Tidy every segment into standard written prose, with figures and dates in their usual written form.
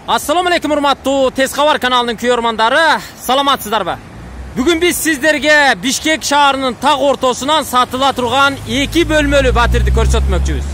Assalamu alaikum урматтуу Тез Кабар каналынын көрөрмандары, саламатсыздарбы? Бүгүн биз сиздерге Бишкек шаарынын так ортосунан сатыла турган 2 бөлмөлүү батирди көрсөтмөкчүбүз.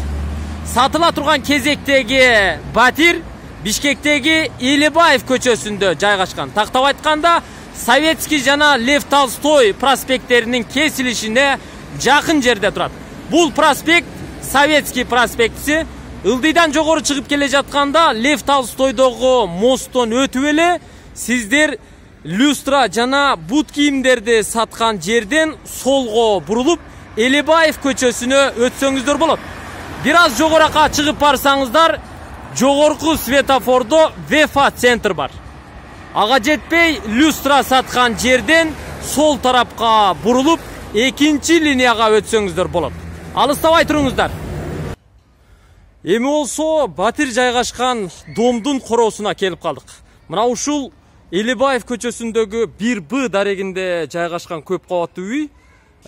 Сатыла турган кезектеги батир Бишкектеги Элибаев көчөсүндө жайгашкан. Тактап айтканда, Советский жана Лев Толстой проспекттеринин кесилишине жакын жерде турат. Бул проспект Советский проспектиси. Ылдыйдан жогору чыгып келе жатканда Лев Толстойдогу мосттон өтүп эле сиздер люстра жана бут кийимдерди саткан жерден солго бурулуп Элибаев көчөсүнө өтсөңүздөр болот. Бир аз жогоракка чыгып барсаңыздар, жогорку светофордо Вефа центр бар. Ага жетпей люстра саткан жерден сол тарапка бурулуп экинчи линияга өтсөңүздөр болот. Алыстабай туруңуздар. Эми болсо батир жайгашкан домдун короосуна келип калдык. Мына ушул Элибаев көчөсүндөгү 1Б дарегинде жайгашкан көп кабаттуу үй.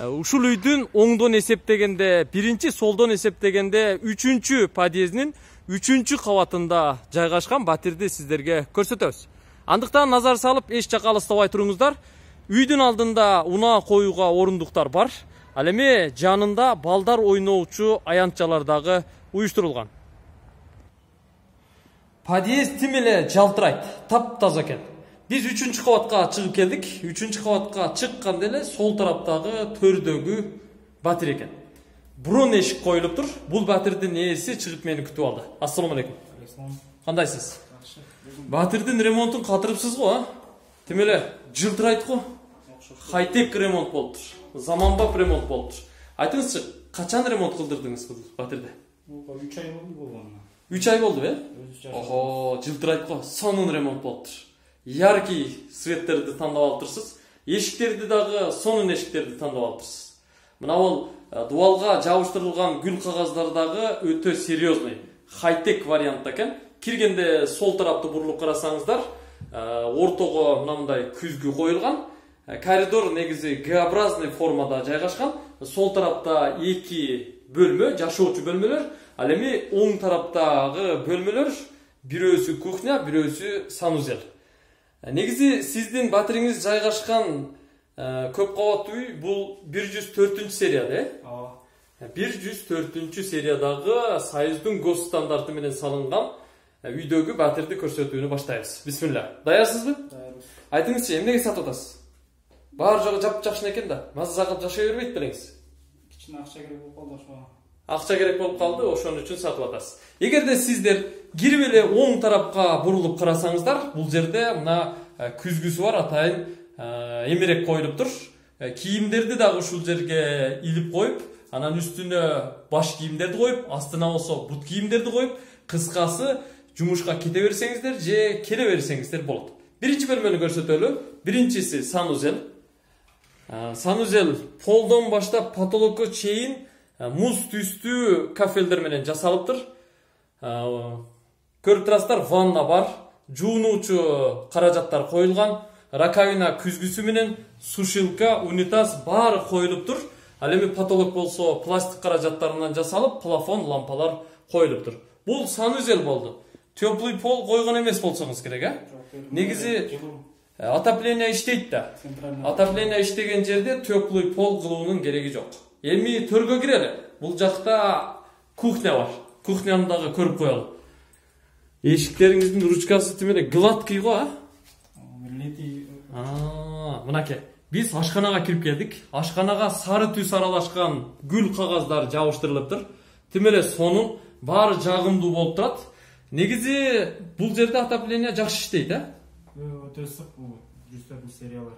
Ушул үйдүн оңдон эсептегенде, биринчи солдон эсептегенде 3-чү подъездинин 3-чү кабатында жайгашкан батирди сиздерге көрсөтөбүз. Андыктан назар салып, эч жакка алыстабай туруңуздар. Үйдүн алдында унаа коюуга орундуктар бар. Ал эми жанында балдар ойноочу аянтчалар дагы уюштурулган. Подъезд тим эле жалтырайт, таптаза экен. Биз 3-чү кабатка чыгып келдик. 3-чү кабатка чыкканда эле сол тараптагы төрдөгү батир экен. Бурун эшик коюлуп тур. Бул батирдин ээси чыгып мени күтүп алды. Ассаламу алейкум. Кандайсыз? Батирдин ремонтун катырыпсыз го, а? Тим эле жылтырайт го. Хайтек ремонт болуптур. Заманбап ремонт болуптур. Айтыңызчы, качан ремонт кылдырдыңыз бул батирди? 3 ай болду болгону. 3 ай болду, Ого, жылтырайт го. Сонун ремонт болуптур. Яркий светтерди тандап алыптырсыз. Эшиктерди дагы сонун эшиктерди тандап алыптырсыз. Мына бул дубалга жабыштырылган гүл кагаздар дагы өтө серьезный, хайтек вариантта экен. Киргенде сол тарапты бурулуп карасаңыздар, ортого мындай күзгү коюлган. Коридор негизи Г-образный формада жайгашкан. Сол тарапта 2 бөлмө, жашоочу бөлмөлөр. Ал эми оң тараптагы бөлмөлөр бирөөсү кухня, бирөөсү санузел. Негизи сиздин батириңиз жайгашкан көп кабаттуу үй бул 104 серияда, Ооба. 104 сериядагы Союздун гос стандарты менен салынган үйдөгү батирди көрсөтүүнү баштайбыз. Бисмилла. Даярсызбы? Даярбыз. Айтыңызчы, эмнеге сатып атасыз? Баары жагы жапжакшын экен да. Маза кылып жашай бербейт белеңиз. Кичине акча керек болуп калды ошого. Акча керек болуп калды, ошон үчүн сатып атасыз. Эгерде сиздер кирип эле оң тарапка бурулуп карасаңыздар, бул жерде мына күзгүсү бар, атайын эмерек коюлуп тур. Кийимдерди дагы ушул жерге илип коюп, анан үстүнө баш кийимдерди коюп, астына болсо бут кийимдерди коюп, кыскасы жумушка кете берсеңиздер же келе берсеңиздер болот. Биринчи бөлмөнү көрсөтөлү. Биринчиси санузел. Санузел полдон баштап потолокко чейин муз түстүү кафелдер менен жасалыптыр. Көрүп турасыздар, ванна бар, жуунуучу каражаттар коюлган, раковина күзгүсү менен, сушилка, унитаз баары коюлуптур. Ал эми потолок болсо пластик каражаттарынан жасалып, плафон, лампалар коюлуптур. Бул санузел болду. Теплый пол койгон эмес болсоңуз керек, Негизи отопление иштейт да. Отопление иштеген жерде теплый пол кылуунун кереги жок. Эми төргө кирели. Бул жакта кухня бар. Кухняны дагы көрүп коелу. Эшиктериңиздин ручкасы тим эле гладкий го, Мынакей. Биз ашканага кирип келдик. Ашканага сары түс аралашкан гүл кагаздар жабыштырылыптыр. Тим эле сонун, баары жагымдуу болуп турат. Негизи бул жерде отопление жакшы иштейт, Өтө ысык бул 104 сериялар.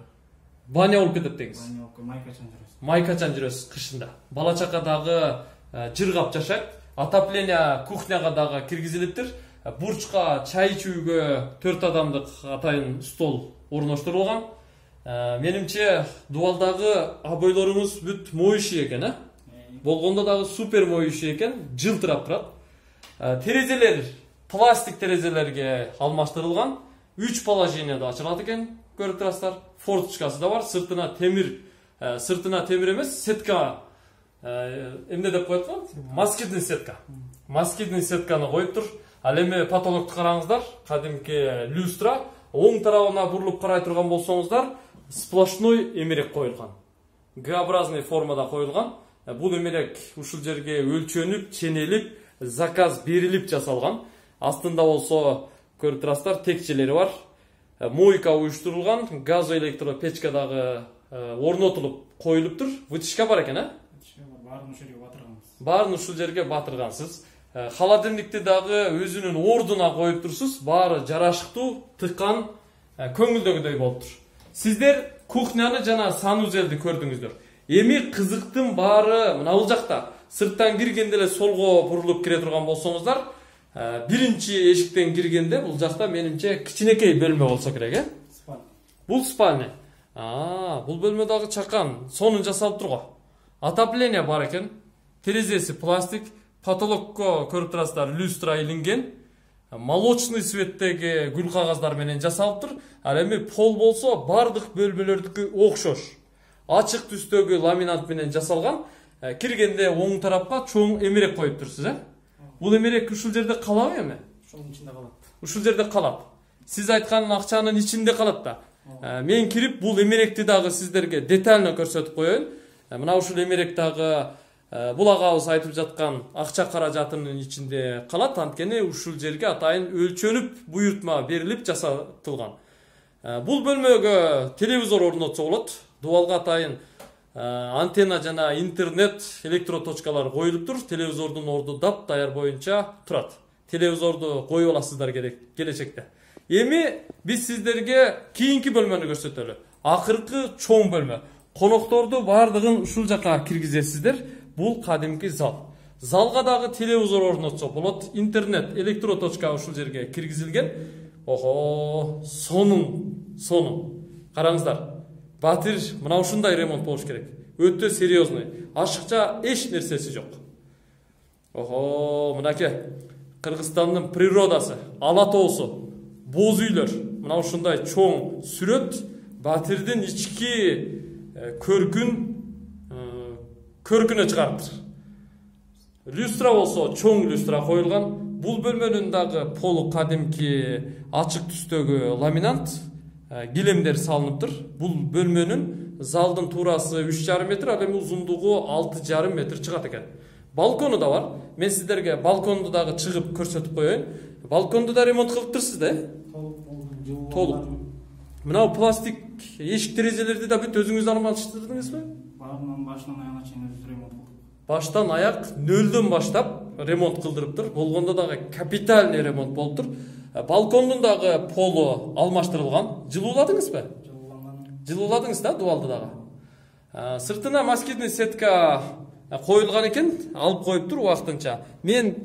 Баня болуп кетет деңиз. Майкачан жүрөсүз. Майкачан жүрөсүз кышында. Бала чака дагы жыргап жашайт. Отопление кухняга дагы киргизилиптир. Бурчка чай ичүүгө 4 адамдык атайын стол орноштурулган. Менимче дубалдагы абойлоруңуз бүт моющий экен, Болгондо дагы супер моющий экен, жылтырап турат. Терезелер пластик терезелерге алмаштырылган. 3 положенияда ачылат экен, көрүп турасыздар. Форточкасы да бар, сыртына темир эмес, сетка эмне деп коет го? Москитный сетка. Москитный сетканы коюп тур. Ал эми потолокту караңыздар, кадимки люстра. Оң тарабына бурулуп карай турган болсоңуздар, сплошной эмерек коюлган. Г-образный формада коюлган. Бул эмерек ушул жерге өлчөнүп, ченелип, заказ берилип жасалган. Астында болсо көрүп турасыздар, текчелери бар. Мойка уюштурулган, газоэлектропечка дагы орнотулуп коюлуптур. Вытяжка бар экен, Баарын ушул жерге батырганбыз. Баарын ушул жерге батыргансыз. Холодильникти дагы өзүнүн ордуна коюп турсуз. Баары жарашыктуу, тыккан, көңүлдөгүдөй болуптур. Сиздер кухняны жана санузелди көрдүңүздөр. Эми кызыктын баары мына бул жакта. Сырттан киргенде эле солго бурулуп кире турган болсоңуздар, биринчи эшиктен киргенде бул жакта менимче кичинекей бөлмө болсо керек, Спальня. Бул спальня. Бул бөлмө дагы чакан, сонун жасалып турго. Отопление бар экен. Терезеси пластик, потолокко көрүп турасыздар, люстра илинген. Молочный цветтеги гүл кагаздар менен жасалыптыр. Ал эми пол болсо бардык бөлмөлөрдүкү окшош. Ачык түстөгү ламинат менен жасалган. Киргенде оң тарапка чоң эмерек коюп турсуз, Бул эмерек ушул жерде калабы эми? Ушунун ичинде калат. Ушул жерде калат. Сиз айткан акчанын ичинде калат да. Мен кирип бул эмеректи дагы сиздерге детально көрсөтүп коеюн. Мына ушул эмерек дагы бул агабыз айтып жаткан акча каражатынын ичинде калат. Анткени ушул жерге атайын өлчөнүп, буйртма берилип жасатылган. Бул бөлмөгө телевизор орнотсо болот. Дубалга атайын антенна жана интернет электроточкалар коюлуптур. Телевизордун орду дап даяр боюнча турат. Телевизорду коюп аласыздар келечекте. Эми биз сиздерге кийинки бөлмөнү көрсөтөлү. Акыркы чоң бөлмө. Конокторду бардыгын ушул жака киргизесиздер. Бул кадимки зал. Залга дагы телевизор орнотсо болот. Интернет электроточка ушул жерге киргизилген. Сонун. Караңыздар. Батир мына ушундай ремонт болуш керек. Өтө серьезный. Ашыкча эч нерсеси жок. Мынакей Кыргызстандын природасы, ала тоосу, боз үйлөр. Мына ушундай чоң сүрөт Батирдин ички көркүнө чыгарыптыр. Люстра болсо чоң люстра коюлган. Бул бөлмөнүн дагы полу кадимки ачык түстөгү ламинат, килемдер салыныптыр. Бул бөлмөнүн залдын туурасы 3,5 метр, ал эми узундугу 6,5 метр чыгат экен. Балкону да бар. Мен сиздерге балконду дагы чыгып көрсөтүп коеюн. Балконду да ремонт кылыптырсыз да? Толук. Мына пластик эшик терезелерди да бүт өзүңүз алмаштырдыңызбы? Баарынан башынан аягына чейин өзүбүз ремонт кылдык. Баштан аяк нөлдөн баштап ремонт кылдырыптыр. Болгондо дагы капитальный ремонт болуптур. Балкондун дагы полу алмаштырылган. Жылууладыңызбы? Жылууладыңыз да, дубалды дагы. Сыртына москитный сетка коюлган экен, алып коюптур убактынча. Мен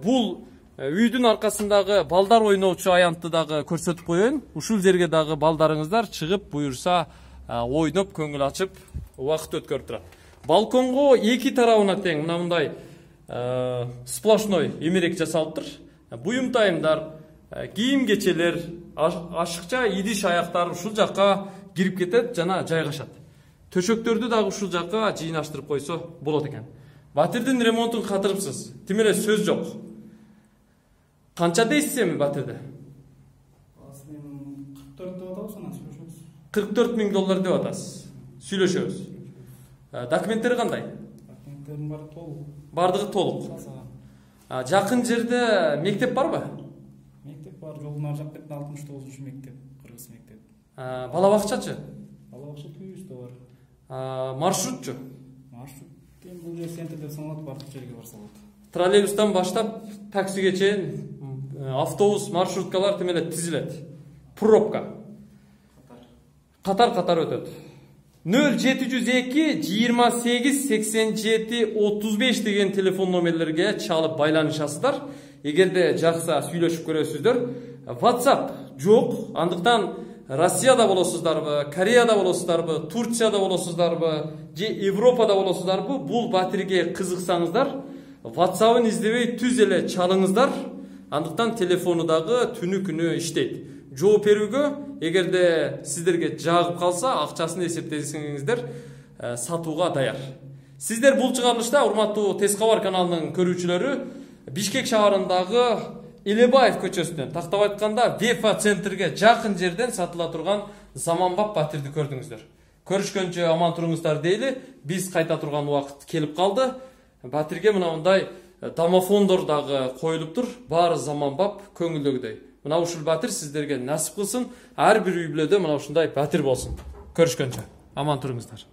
бул үйдүн аркасындагы балдар ойноочу аянтты дагы көрсөтүп коеюн. Ушул жерге дагы балдарыңыздар чыгып буюрса ойноп, көңүл ачып, убакыт өткөрүп турат. Балконго эки тарабына тең мындай сплошной эмерек жасалыптыр. Буюмтайымдар, кийим кечелер, ашыкча идиш аяктар ушул жакка кирип кетет жана жайгашат. Төшөктөрдү дагы ушул жакка жыйнаштырып койсо болот экен. Батирдин ремонтун катырыпсыз. Тим эле сөз жок. Канча дейсиз эми Батирде? 44 деп атабыз, анан сүйлөшөбүз. 44 000 доллар деп атасыз. Сүйлөшөбүз. Документтери кандай? Документтердин баары толук. Бардыгы толук. Жакын жерде мектеп барбы? Мектеп бар, жолдун ар жак бетинде 69 мектеп, кыргыз мектеп. Бала бакчачы? Бала бакча түйүстө бар. Маршрутчу? Маршрут бул жер центр деп саналат, бардык жерге барса болот. Троллейбустан баштап таксиге чейин автобус, маршруткалар тим эле тизилет. Пробка. Катар өтөт. 0702 28 87 35 деген телефон номерлерге чалып байланышасыздар. Эгерде жакса сүйлөшүп көрөсүздөр. WhatsApp жок. Андыктан Россияда болосуздарбы, Кореяда болосуздарбы, Турцияда болосуздарбы, же Европада болосуздарбы, бул Батирге кызыксаңыздар, WhatsApp-ын издебей түз эле чалыңыздар. Андыктан телефону дагы түнү күнү иштейт. Жооп берүүгө, эгерде сиздерге жагып калса, акчасын эсептесеңиздер, сатууга даяр. Сиздер бул чыгарылышта, урматтуу Тез кабар каналынын көрүүчүлөрү, Бишкек шаарындагы Элебаев көчөсүнөн, тактап айтканда Вефа центрге жакын жерден сатыла турган заманбап батирди көрдүңүздөр. Көрүшкөнчө аман туруңуздар дейли. Биз кайта турган убакыт келип калды. Батирге мына мындай домофондор дагы коюлуптур. Баары заманбап, көңүлдөгүдөй. Мына ушул батир сиздерге насип кылсын. Ар бир үй бүлөдө мына ушундай батир болсун. Көрүшкөнчө аман туруңуздар.